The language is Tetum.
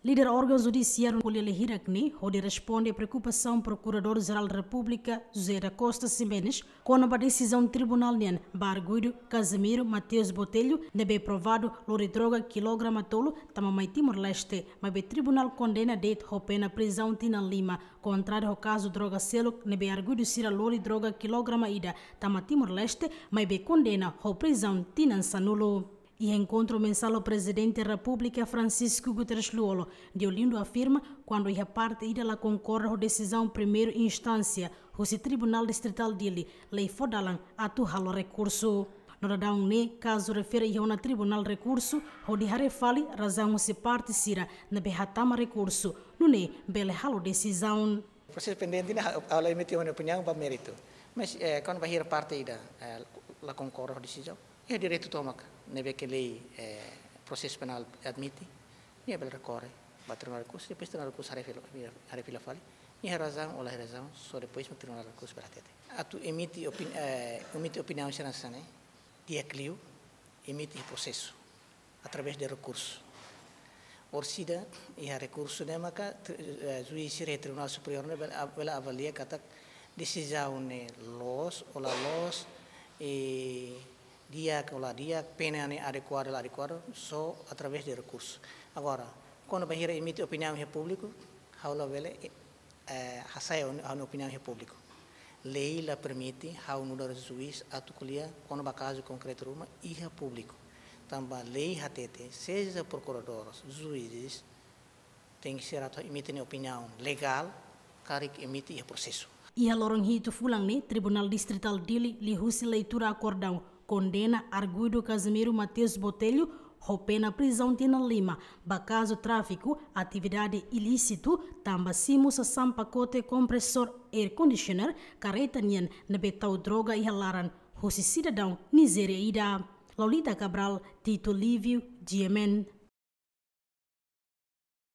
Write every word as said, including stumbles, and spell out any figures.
Líder órgaun judisiáriu ko'alia hirak ne'e hodi responde preokupasaun Prokuradór-Jerál Repúblika José da Costa Ximenes kona-ba desizaun tribunál nian ba arguidu Casimiro Mateus Botelho ne'ebé provadu lori droga kilograma tolu tama mai Timor-Leste, maibé tribunál kondena de'it ho pena prizaun tinan lima, kontráriu ho kazu droga seluk ne'ebé arguidu sira lori droga kilograma ida tama Timor-Leste, maibé kondena ho prizaun tinan sanulu. Iha enkontru mensál ho Prezidente Repúblika Francisco Guterres Lú-Olo, Deolindo afirma, kuandu iha parte ida la konkorda ho desizaun primeira instánsia husi Tribunál Distritál Dili, lei fó dalan atu halo rekursu. No daudaun ne'e, kazu refere iha ona tribunál rekursu, hodi haree fali razaun husi parte sira ne'ebé hatama rekursu, nune'e bele halo desizaun. Prosesu pendente ne'e, ha'u, ha'u la emite ha'u-nia opiniaun ba méritu. Mas, eh, kuandu bainhira parte ida, eh, la konkorda ho desizaun, iha direitu tomak ne'ebé ke lei, eh, prosesu penál admite, nia bele rekorre ba Tribunál Rekursu, depois Tribunál Rekursu haree fila, haree fila fali, nia iha razaun ou la iha razaun, só depois mak Tribunál Rekursu bele hatete. Atu emite opin-, eh, emite opiniaun sira hanesan ne'e, di'ak liu, emite iha prosesu, através de rekursu. Orsida iha rekursu ne'e maka, tri-, eh, juís sira Tribunál Superiór ne'e bele, bele avalia katak desizaun ne'e loos ou la loos, i di'ak ou la di'ak, pena ne'e adekuadu ou la adekuadu, só através de rekursu. Agora, kuandu bainhira emite opiniaun iha públiku, ha'u labele, eh, hasai ha'u-nia opiniaun iha públiku. Lei la permite ha'u nu'udar juís atu ko'alia kona-ba kazu konkretu ruma iha públiku. Tanba lei hatete, seja prokuradór, juízes, tenke ser atu emite nia opiniaun legál, karik emite iha prosesu. Iha loron hitu fulan ne'e, Tribunál Distritál Dili liuhusi leitura akordaun kondena arguidu Casimiro Mateus Botelho ho pena prizaun tinan lima ba kazu tráfiku atividade ilísitu tanba simu sasán pakote kompresór air conditioner karreta nian ne'ebé tau droga iha laran husi sidadaun Nizéria ida. Laulita Cabral, Tito Lívio, G M N.